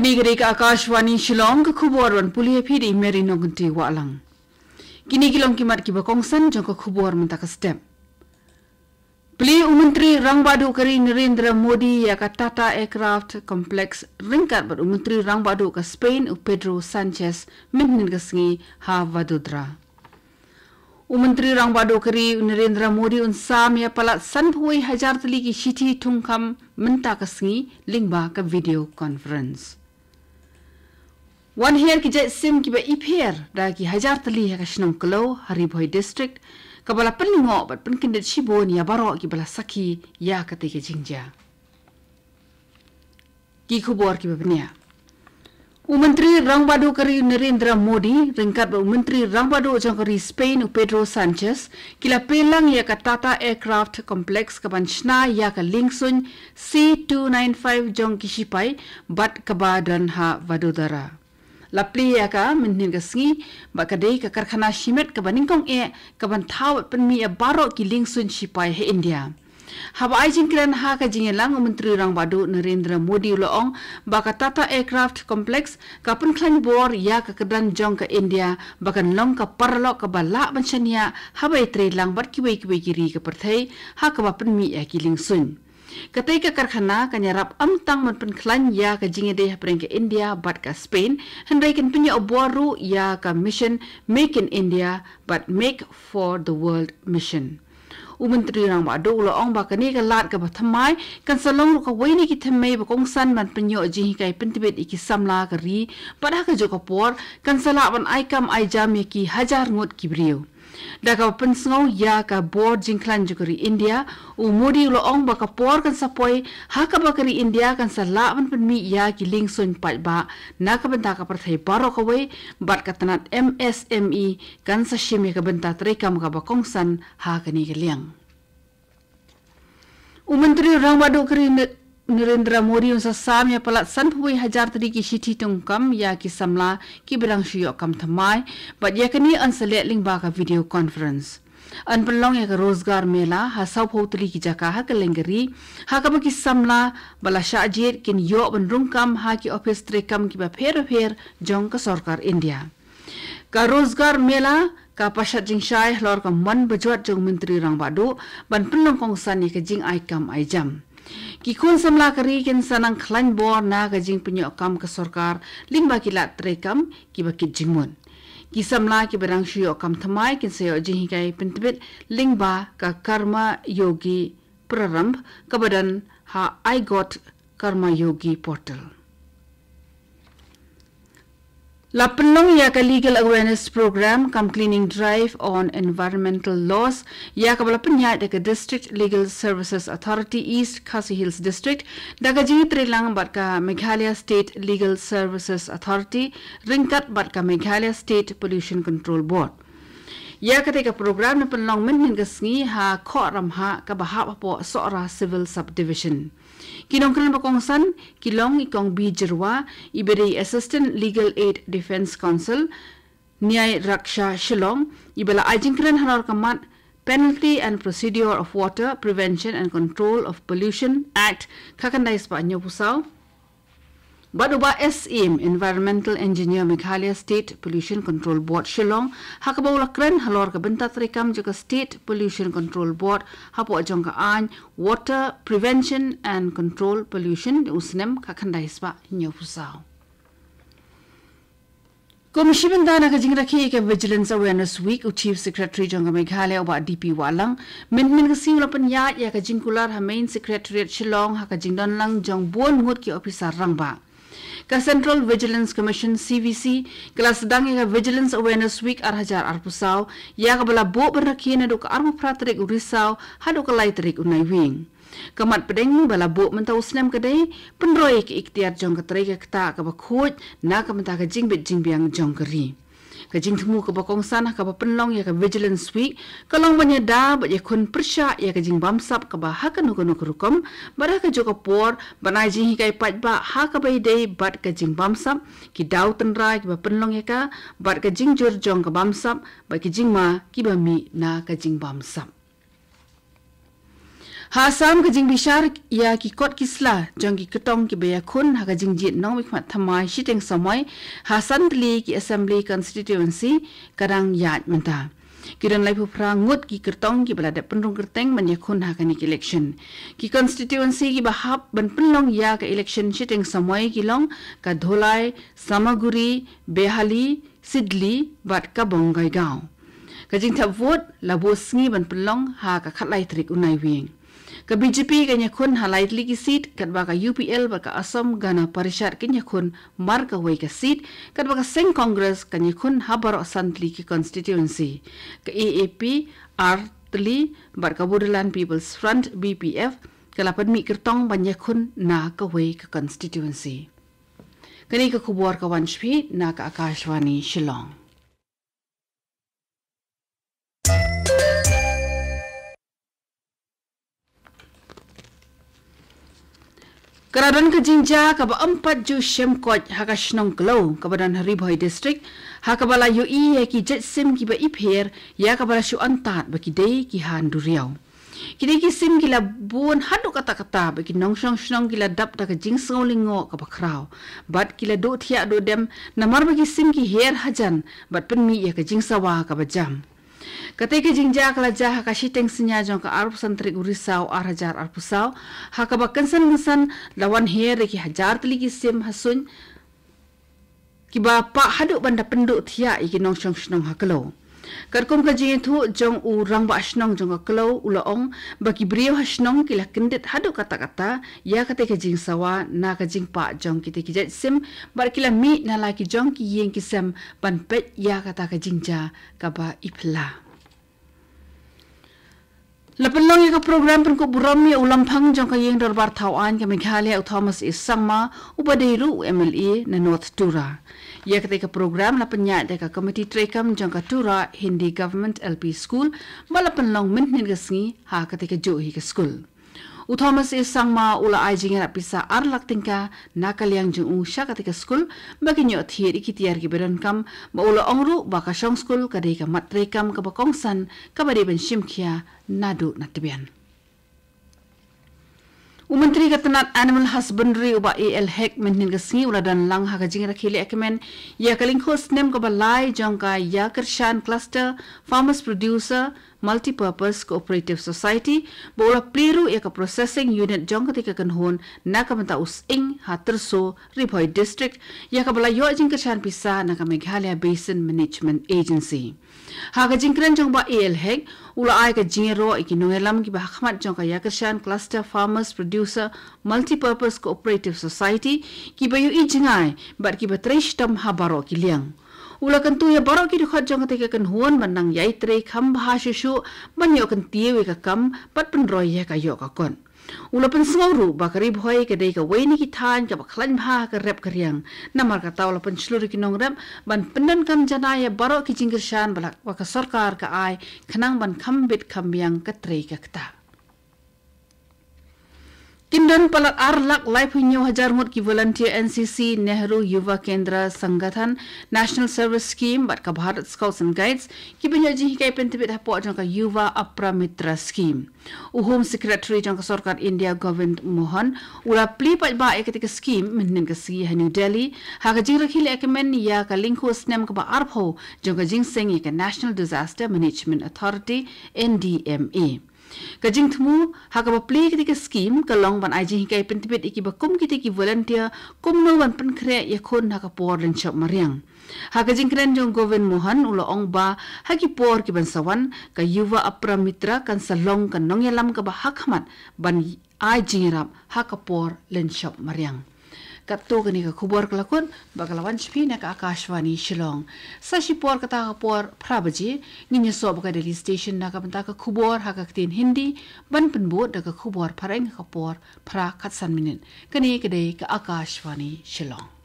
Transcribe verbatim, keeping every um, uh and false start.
Kane ka dei ka Akashvani Shillong, ka khubor ban pule ïa phi da i Mary Nongkynti Wahlang. Kine ki long ki mat kiba kongsan jong ka khubor mynta ka step. Plie u Myntri Rangbah Duh ka ri Narendra Modi ïa ka Tata Aircraft Complex ryngkat bad u Myntri Rangbah Duh ka Spain u Pedro Sanchez mynhynnin ka sngi ha Vadodara. U Myntri Rangbah Duh ka ri u Narendra Modi un sam ïa palat sanphew hajar tylli ki shithi thungkam mynta ka sngi lyngba ka video conference. Wan hiar ki jait sim kiba ipher da ki hajar tylli ha ka shnong Kloi ha Ri Bhoi District, kaba la pynlyngngoh bad pynkyndit shibun ïa baroh kiba la sakhi ïa katei ka jingjia. Ki khubor kiba bniah. U Myntri Rangbah Duh ka ri Narendra Modi ryngkat bad u Myntri Rangbah Duh jong ka ri Spain u Pedro Sanchez ki la plie lang ïa ka Tata Aircraft Complex kaban shna ïa ka liengsuiñ C two nine five jong ki shipai bad kaba don ha Vadodara. La plie ïa ka mynhynnin ka sngi bad ka dei ka karkhana shimet kaba nyngkong eh kaban thaw bad pynmih ïa baroh ki liengsuiñ shipai ha India. Haba ai jingkren ha ka jingïalang u Myntri Rangbah Duh Narendra Modi u la ong ba ka Tata Aircraft Complex ka pynkhlaiñ bor ïa ka kyrdan jong ka India ba kan long ka paralok kaba lah ban shaniah haba ïatrei lang bad kiwei kiwei ki ri ka pyrthei ha kaba pynmih ïa ki liengsuiñ. Katei ka karkhana kan ïarap ym tang ban pynkhlaiñ ïa ka jingïadei hapdeng ka India bad ka Spain, hynrei kan pynïoh bor ruh ïa ka mission Make in India bad Make for the World mission. U Myntri Rangbah Duh u la ong ba kane ka lad kaba thymmai kan sa long ruh kawei na ki thymmei ba kongsan ban pynïoh jinghikai pyntbit ïa ki samla ka ri bad ha kajuh ka por kan sa lah ban ai kam ai jam ïa ki hajar ngut ki briew. Da kaba pynsngew ïa ka bor jingkhlaiñ jong ka ri India, u Modi u la ong ba ka por kan sa poi ha kaba ka ri India kan sa lah ban pynmih ïa ki liengsuiñ paidbah na ka bynta ka pyrthei baroh kawei bad ka tnat M S M E kan sa shim ïa ka bynta treikam kaba kongsan ha kane ka liang. U Myntri Rangbah Duh ka ri Narendra Modi un sa sam ïa palat sanphew hajar tylli ki shithi thungkam ïa ki samla kiba dang shu ïoh kam thymmai bad ïa kane yn sa leh lyngba ka video conference. Yn pynlong ïa ka Rozgar Mela ha sawphew tylli ki jaka ha kylleng ka ri ha kaba ki samla ba la shah jied kin ïoh ban rung kam ha ki ophis treikam kiba pher bapher jong ka sorkar India. Ka Rozgar Mela ka pashat jingshai halor ka mon bajot jong u Myntri Rangbah Duh ban pynlong kongsan ïa ka jingai kam ai jam. Ki khun samla ka ri kin sa nang khlaiñ bor na ka jingpynïoh kam ka sorkar lyngba ki lad treikam kiba kit jingmut. Ki samla kiba dang shu ïoh kam thymmai kin sa ïoh jinghikai pyntbit lyngba ka Karma Yogi Prarambh kaba don ha iGOT Karma Yogi portal. La pynlong ïa ka Legal Awareness Program cum Cleaning Drive on Environmental Laws ïa kaba la pynïaid da ka District Legal Services Authority East Khasi Hills District da ka jingïatreilang bad ka Meghalaya State Legal Services Authority ryngkat bad ka Meghalaya State Pollution Control Board. Ïa katei ka program la pynlong mynhynnin ka sngi ha Khoh Ramhah kaba hap hapoh Sohra Civil Subdivision. Ki nongkren ba kongsan ki long i Kong B Jyrwa, iba dei Assistant Legal Aid Defence Counsel, Nyai Raksha Shillong, iba la ai jingkren halor ka mat Penalty and Procedure of Water Prevention and Control of Pollution Act khatkhyndai spah hynñiewphew saw, bad u Bah S Syiem, Environmental Engineer, Meghalaya State Pollution Control Board, Shillong, ha kaba u la kren halor ka bynta treikam jong ka State Pollution Control Board hapoh jong ka aiñ Water Prevention and Control Pollution u snem khatkhyndai spah hynñiewphew saw. Kum shi bynta na ka jingrakhe ïa ka Vigilance Awareness Week, u Chief Secretary jong ka Meghalaya u Bah D P Wahlang mynhynnin ka sngi u la pynïaid ïa ka jingkular ha Main Secretariat Shillong ha ka jingdon lang jong bun ngut ki ophisar rangbah. Ka Central Vigilance Commission, C V C, ka la sdang ïa ka Vigilance Awareness Week ar hajar arphew saw ïa kaba la buh ban rakhe naduh ka arphew phra tarik u Risaw haduh ka lai tarik u Naiwieng. Ka mat pdeng ba la buh mynta u snem ka dei pynroi ïa ka iktiar jong ka trei ka ktah kaba khuid na ka bynta ka jingbit jingbiang jong ka ri. Ka jingthmu kaba kongsan ha kaba pynlong ïa ka Vigilance Week ka long ban ïada bad ïakhun pyrshah ïa ka jingbamsap kaba ha kano kano ka rukom bad ha kajuh ka por ban ai jinghikai paidbah ha kaba ïadei bad ka jingbamsap, ki daw tynrai kiba pynlong ïa ka bad ka jingjur jong ka bamsap bad ki jingma kiba mih na ka jingbamsap. Ha Assam, ka jingbishar ïa ki kot ki sla jong ki kyrtong kiba ïakhun ha ka jingjied nongmihkhmat thymmai shiteng samoi ha san tylli ki Assembly Constituency ka dang ïaid mynta. Ki don laiphew phra ngut ki kyrtong kiba la dep pynrung kyrteng ban ïakhun ha kane ka election. Ki constituency kiba hap ban pynlong ïa ka election shiteng samoi ki long ka Dholai, Samaguri, Behali, Sidli bad ka Bongaigaon. Ka jingthep vote la buh sngi ban pynlong ha ka khatlai tarik u Naiwieng. Ka B J P kan ïakhun ha lai tylli ki seat, katba ka U P L bad ka Assam Gana Parishad kan ïakhun mar kawei ka seat, katba ka seng Congress kan ïakhun ha baroh san tylli ki constituency. Ka A A P ar tylli bad ka Bodoland People's Front, B P F, ka la pynmih kyrtong ban ïakhun na kawei ka constituency. Kane ka khubor ka wan sha phi na ka Akashvani Shillong. Ka la don ka jingjia kaba ym pat ju shem koit ha ka shnong Kloi kaba don ha Ri Bhoi District, ha kaba la ïohi ïa ki jait sim kiba ipher, ïa kaba la shu antad ba ki dei ki han duriaw. Ki dei ki sim ki la bun haduh katta katta, ba ki nongshong shnong ki la dap da ka jingsngew lyngngoh kaba khraw, bad ki la duh thiah duh dem, namar ba ki sim ki her hajan bad pynmih ïa ka jingsawa kaba jam. Katei ka jingjia ka la jia ha ka shiteng synñia jong ka arphew san tarik u Risaw ar hajar arphew saw, ha kaba kynsan kynsan la wan her ïa ki hajar tylli ki sim ha suiñ, kiba pah haduh ban da pynduh thiah ïa ki nongshong shnong ha Kloi. Katkum ka jingïathuh jong u rangbah shnong jong ka Kloi, u la ong ba ki briew ha shnong ki la kyndit haduh katta katta ïa katei ka jingsawa na ka jingpah jong kitei ki jait sim, bad ki la mih na la ki jong ki ïing ki sem ban peit ïa kata ka jingjia kaba iphylla. La pynlong ïa ka program pynkup burom ïa u Lamphang jong ka Ïing Dorbar Thaw Aiñ ka Meghalaya, u Thomas A Sangma, uba dei ruh u M L A na North Tura. Ïa katei ka program la pynïaid da ka Komiti Treikam jong ka Tura Hindi Government L P School, ba la pynlong mynhynnin ka sngi ha katei ka juh hi ka skul. U Thomas A Sangma u la ai jingïarap pisa ar lak tyngka na ka liang jong u sha katei ka skul, ba kin ïoh thied ïa ki tiar kiba donkam, bad u la ong ruh ba ka shong skul ka dei ka mat treikam kaba kongsan kaba dei ban shim khia naduh na tbian. U Myntri ka tnat Animal Husbandry, u Bah A L Hek, mynhynnin ka sngi u la don lang ha ka jingrakhe lehkmen ïa ka lyngkhuh snem kaba lai jong ka Ïakyrshan Cluster Farmers Producer Multipurpose Cooperative Society, bad u la plie ruh ïa ka processing unit jong katei ka kynhun na ka bynta u sying ha Tyrso, Ri Bhoi District, ïa kaba la ïoh jingkyrshan pisa na ka Meghalaya Basin Management Agency. Ha ka jingkren jong u Bah A L Hek, u la ai ka jingïaroh ïa ki nongïalam kiba ha khmat jong ka Ïakyrshan Cluster Farmers Producer Multipurpose Cooperative Society, kiba ïohi jngai bad kiba trei shitom ha baroh ki liang. U la kyntu ïa baroh ki dkhot jong katei ka kynhun ban nang ïai trei kham bha shuh shuh, ban ïoh kyntiew ïa ka kam bad pynroi ïa ka ïoh ka kot. U la pynsngew ruh ba ka Ri Bhoi ka dei kawei na ki thaiñ kaba khlaiñ bha ha ka rep ka riang. Namar kata u la pynshlur ïa ki nongrep ban pyndonkam janai ïa baroh ki jingkyrshan ba la, ba ka sorkar ka ai, khnang ban kham bit kham biang ka trei ka ktah. Kin don palat ar lak laiphew hynñiew hajar ngut ki volunteer N C C, Nehru Yuva Kendra Sangathan, National Service Scheme bad ka Bharat Scouts and Guides, kiban ïoh jinghikai pyntbit hapoh jong ka Yuva Apramitra Scheme. U Home Secretary jong ka Sorkar India, Govind Mohan, u la plie paidbah ïa katei ka scheme mynhynnin ka sngi ha New Delhi, ha ka jingrakhe lehkmen ïa ka lyngkhuh snem kaba arphew jong ka jingseng ïa ka National Disaster Management Authority, N D M A. Ka jingthmu ha kaba plie katei ka scheme ka long ban ai jinghikai pyntbit ïa kiba kum kitei ki volunteer kumno ban pynkhreh ïakhun ha ka por lynshop mariang. Ha ka jingkren jong u Govind Mohan, u la ong ba ha ki por kiban sa wan, ka Yuva Apramitra kan sa long ka nongïalam kaba ha khmat ban ai jingïarap ha ka por lynshop mariang. Katto katne ka khubor ka la kut, bad ka la wan sha phi na ka Akashvani Shillong. Sa shipor kata ka por phra baje, ngin ïasoh bad ka Delhi Station na ka bynta ka khubor ha ka ktien Hindi, ban pynbud da ka khubor phareng ha ka por phra khatsan minit. Kane ka dei ka Akashvani Shillong.